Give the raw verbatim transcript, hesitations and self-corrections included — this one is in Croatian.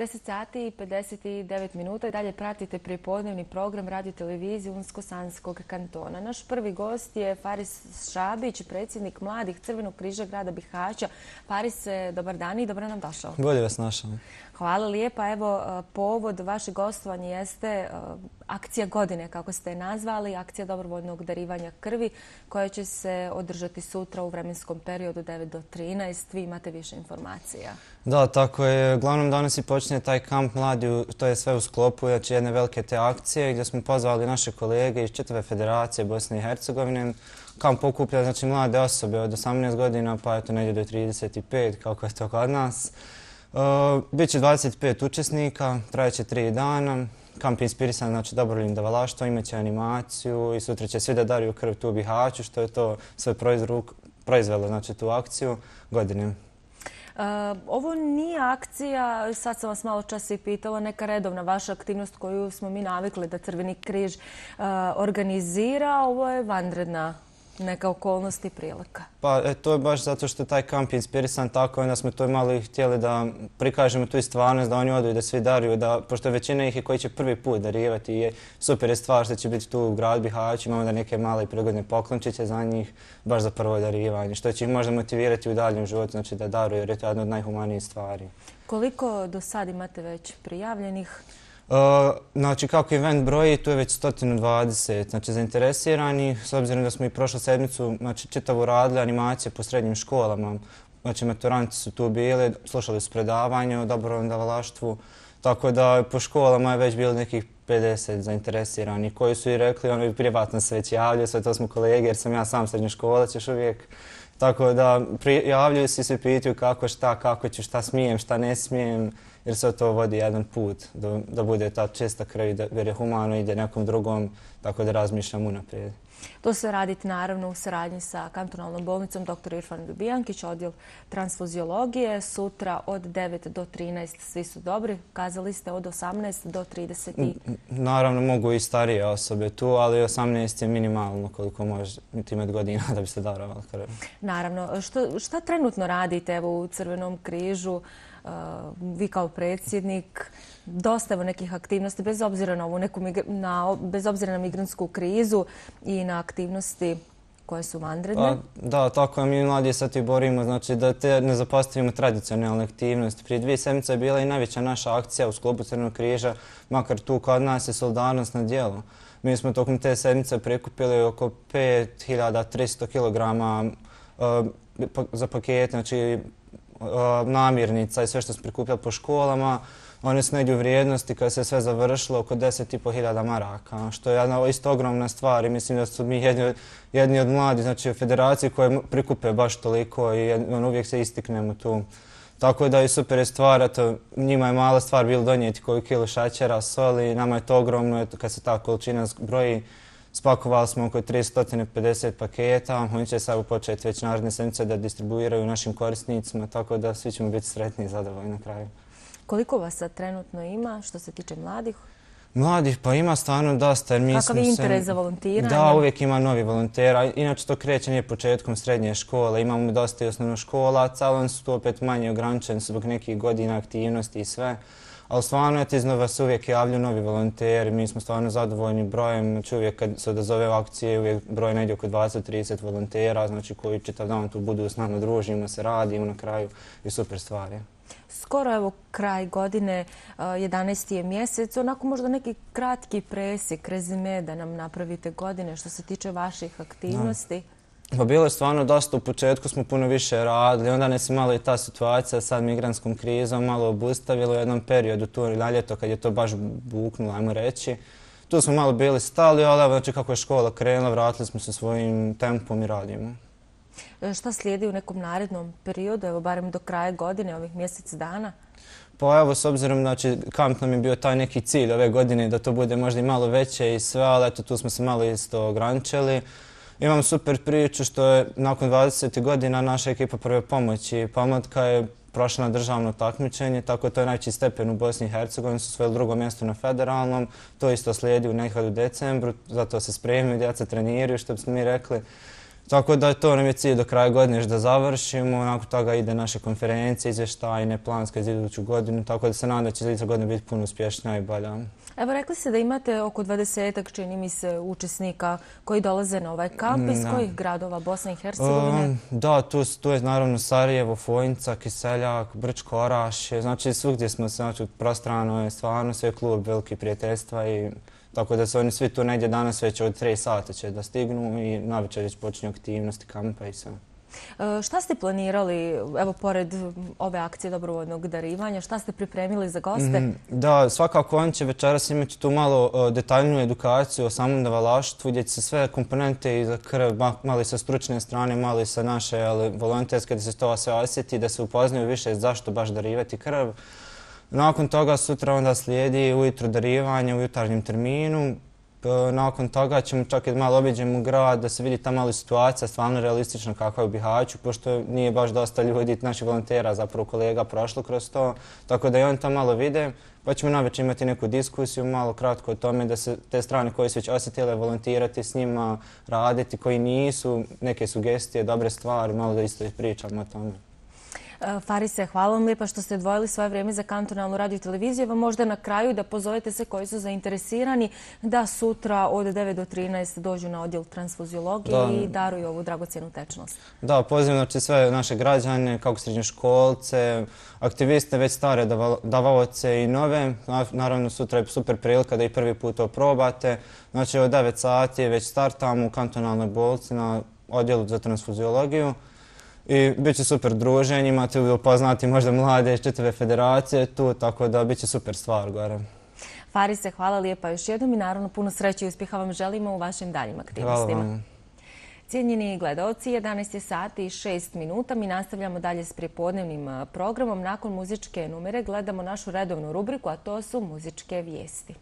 deset sati i pedeset devet minuta i dalje pratite prijepodnevni program radio televizije Unsko-Sanskog kantona. Naš prvi gost je Faris Šabić, predsjednik Mladih Crvenog križa grada Bihaća. Faris, dobar dan i dobro nam došao. Bolje vas našao. Hvala lijepa. Evo, povod vašeg gostovanja jeste akcija godine, kako ste je nazvali, akcija dobrovoljnog darivanja krvi, koja će se održati sutra u vremenskom periodu devet do trinaest. Vi imate više informacija. Da, tako je. Uglavnom danas i počinje taj kamp mladi, to je sve u sklopu znači, jedne velike te akcije gdje smo pozvali naše kolege iz čitave federacije Bosne i Hercegovine. Kamp okuplja znači, mlade osobe od osamnaest godina pa eto negdje do trideset pet, kako je to kod nas. Uh, Biće dvadeset pet učesnika, trajeće tri dana. Kamp je inspirisan znači, dobrovoljnim davalaštvom, imaće animaciju i sutra će svi da daruju krv tu u Bihaću, što je to sve proizvelo znači, tu akciju godine. Uh, ovo nije akcija, sad sam vas malo čas i pitala, neka redovna vaša aktivnost koju smo mi navikli da Crveni križ uh, organizira. Ovo je vanredna neka okolnost i prilika. Pa e, to je baš zato što taj kamp je inspirisan tako, onda smo to malo i htjeli da prikažemo tu i stvarnost, da oni odu i da svi daruju, da, pošto većina ih je koji će prvi put darivati i super je stvar što će biti tu u gradu Bihaću, imamo da neke male i prigodne poklončiće za njih, baš za prvo darivanje, što će ih možda motivirati u daljem životu, znači da daruju jer je to jedna od najhumanijih stvari. Koliko do sad imate već prijavljenih? Uh, znači kako event broji, tu je već sto dvadeset znači, zainteresirani, s obzirom da smo i prošlu sedmicu znači, čitavu radili animacije po srednjim školama. Znači maturanti su tu bili, slušali su predavanje o dobrovoljnom davalaštvu, tako da po školama je već bilo nekih pedeset zainteresirani koji su i rekli, ono i privatno se već javljaju, sve to smo kolege jer sam ja sam srednjoškolac još uvijek. Tako da javljaju se i se pitaju kako, šta, kako ću, šta smijem, šta ne smijem, jer se to vodi jedan put do, da bude ta čista krv, da jer je humano ide nekom drugom, tako da razmišljam unaprijed. To se raditi naravno u saradnji sa kantonalnom bolnicom doktor Irfan Ljubijankić, odjel transfuziologije. Sutra od devet do trinaest svi su dobri. Kazali ste od osamnaest do trideset. Naravno mogu i starije osobe tu, ali osamnaest je minimalno koliko može imati godina da bi se darovali krv. Naravno. Što, šta trenutno radite evo, u Crvenom križu? Uh, vi kao predsjednik, dosta evo nekih aktivnosti bez obzira na ovu neku na, bez obzira na migrantsku krizu i na aktivnosti koje su vanredne. A, da, tako je, mi mladi sad i borimo, znači da te ne zapostavimo tradicionalne aktivnosti. Prije dvije sedmice je bila i najveća naša akcija u sklopu Crvenog križa, makar tu kod nas je solidarnost na djelu. Mi smo tokom te sedmice prikupili oko pet hiljada tristo kilograma uh, pa, za pakete, znači namirnica i sve što smo prikupljali po školama. One su negdje u vrijednosti kada se sve završilo oko deset i po hiljada maraka, što je jedna isto ogromna stvar i mislim da su mi jedni, jedni od mladih znači, u federaciji koje prikupe baš toliko i on, uvijek se istiknemo tu. Tako da je super stvar, eto, njima je mala stvar bilo donijeti koju kilu šećera, soli, nama je to ogromno, eto, kad se ta količina broji. Spakovali smo oko tristo pedeset paketa, oni će sad početi već naredne sedmice da distribuiraju našim korisnicima, tako da svi ćemo biti sretni i zadovoljni na kraju. Koliko vas sad trenutno ima što se tiče mladih? Mladih pa ima stvarno dosta. Jer mi Kakav je interes za volontiranje? Da, uvijek ima novi volontera. Inače to kreće nije početkom srednje škole. Imamo dosta i osnovnoškolaca, ali oni su tu opet manje ograničeni zbog nekih godina aktivnosti i sve. Ali stvarno je iznova se uvijek javljaju novi volonteri, mi smo stvarno zadovoljni brojem, znači uvijek kad se odazove u akcije, uvijek broj negdje oko dvadeset do trideset volontera, znači koji čitav dan tu budu s nama, družimo se, radimo na kraju i super stvari. Skoro evo kraj godine, jedanaesti je mjesec, onako možda neki kratki presjek, rezime da nam napravite godine što se tiče vaših aktivnosti. Da. Pa bilo je stvarno dosta, u početku smo puno više radili, onda nas je malo i ta situacija sad migrantskom krizom malo obustavila u jednom periodu tu na ljeto kad je to baš buknulo, ajmo reći. Tu smo malo bili stali, ali znači kako je škola krenula, vratili smo se svojim tempom i radimo. Šta slijedi u nekom narednom periodu, evo barem do kraja godine, ovih mjesec dana? Pa evo, s obzirom, znači, kamp nam je bio taj neki cilj ove godine da to bude možda i malo veće i sve, ali eto tu smo se malo isto ograničili. Imam super priču što je nakon dvadeset godina naša ekipa prve pomoći Pomlatka je prošla na državno takmičenje, tako to je najveći stepen u Bosni i Hercegovini, su svojili drugo mjesto na federalnom, to isto slijedi u nekad u decembru, zato se spremaju, djeca treniraju, što bismo mi rekli. Tako da to nam je cilj do kraja godine još da završimo. Nakon toga ide naše konferencije, izvještajne, planske za iduću godinu. Tako da se nadam da će iduća godina biti puno uspješnija i bolja. Evo, rekli ste da imate oko dvadesetak, čini mi se, učesnika koji dolaze na ovaj kamp. Iz kojih gradova Bosne i Hercegovine? Da, tu je naravno Sarajevo, Fojnica, Kiseljak, Brčko, Orašje. Znači, svugdje smo se, znači, prostrano je stvarno sve klub veliki prijateljstva i tako da su oni svi tu negdje danas već od tri sata će da stignu i navečer već počinju aktivnosti kampa i sve. Šta ste planirali, evo, pored ove akcije dobrovoljnog darivanja, šta ste pripremili za goste? Da, svakako oni će večeras imati tu malo detaljniju edukaciju o samom davalaštvu gdje će se sve komponente i za krv, malo i sa stručne strane, malo i sa naše volonterske, da se to sve osjeti, da se upoznaju više zašto baš darivati krv. Nakon toga sutra onda slijedi ujutro darivanje u jutarnjem terminu. Nakon toga ćemo čak i malo obiđemo grad da se vidi ta mala situacija, stvarno realistična kakva je u Bihaću, pošto nije baš dosta ljudi, naših volontera, zapravo kolega, prošlo kroz to. Tako da i oni to malo vide, pa ćemo navečer imati neku diskusiju, malo kratko o tome da se te strane koje su već osjetile volontirati s njima, raditi, koji nisu, neke sugestije, dobre stvari, malo da isto pričamo o tome. Farise, hvala vam lijepa što ste odvojili svoje vrijeme za kantonalnu radio i televiziju. Evo možda na kraju da pozovete sve koji su zainteresirani da sutra od devet do trinaest dođu na odjel transfuziologije i daruju ovu dragocjenu tečnost. Da, pozivam znači sve naše građane, kako srednjoškolce, aktiviste, već stare davaoce i nove. Naravno sutra je super prilika da i prvi put to probate. Znači od devet sati već startamo u kantonalnoj bolnici na odjelu za transfuziologiju. I bit će super druženje, imate upoznati možda mlade iz čitave federacije tu, tako da bit će super stvar gore. Farise, hvala lijepa još jednom i naravno puno sreće i uspjeha vam želimo u vašim daljim aktivnostima. Hvala vam. Cijenjeni gledaoci, jedanaest je sati i šest minuta. Mi nastavljamo dalje s prijepodnevnim programom. Nakon muzičke numere gledamo našu redovnu rubriku, a to su muzičke vijesti.